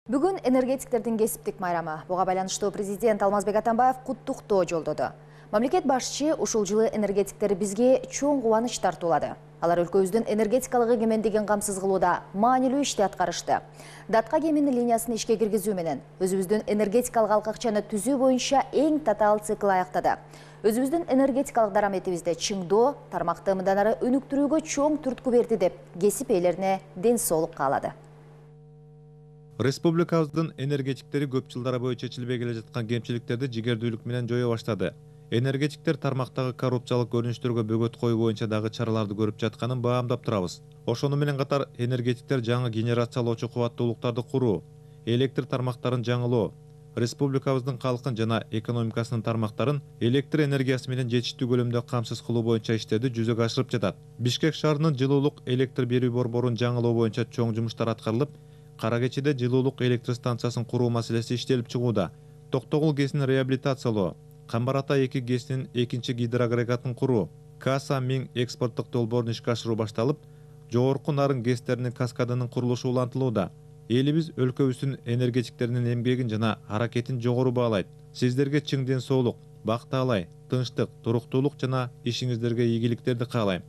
Бүгүн энергетиктердин кесиптик майрамы. Буга байланыштуу президент Алмазбек Атамбаев куттуктоо жолдоду. Мамлекет башчы ушул жылы энергетиктер бизге чоң кубаныч тартуулады. Алар өлкөбүздүн энергетикалык эгемендигин камсыз кылууда маанилүү ишти аткарышты. Датка кеминин линиясын ишке киргизүү менен өзүбүздүн энергетикалык алкакчаны түзүү боюнча эң татаал цикл аяктады. Өзүбүздүн энергетикалык дараметибизди чыңдоо, тармакты мындан ары өнүктүрүүгө чоң түрткү берди деп кесип ээлерине ден соолук каалады. Республикабыздын энергетиктери көп жылдар бою чечилбей келе жаткан кемчиликтерди жигердүүлүк менен жое баштады. Энергетиктер тармактагы коррупциялык көрүнүштөргө бөгөт коюу боюнча дагы чараларды көрүп жатканын баамдап турабыз. Ошону менен катар энергетиктер жаңы генерациялоочу кубаттуулуктарды куруу, электр тармактарын жаңылоо, республикабыздын калкын жана экономикасынын тармактарын электр энергиясы менен жетиштүү көлөмдө камсыз кылуу боюнча иштерди жүзөгө ашырып жатат. Бишкек шаарынын жылуулук электр берүү борборун жаңылоо боюнча чоң жумуштар аткарылып, Кара Кечиде жылуулук электр станциясын куруу маселеси иштелип чыгууда. Токтогул КЭСин реабилитациялоо, Камбар Ата 2 КЭСинин экинчи гидроагрегатын куруу, Каса 1000 экспорттук долбоорун ишке ашыруу башталып, жогорку нарын КЭСтеринин каскадынын курулушу улантылууда. Элибиз өлкөбүздүн энергетиктеринин эмгегин жана аракетин жогору баалайт. Сиздерге чың ден соолук, бак таалай, тынчтык, туруктуулук жана ишиңиздерге ийгиликтерди каалайм.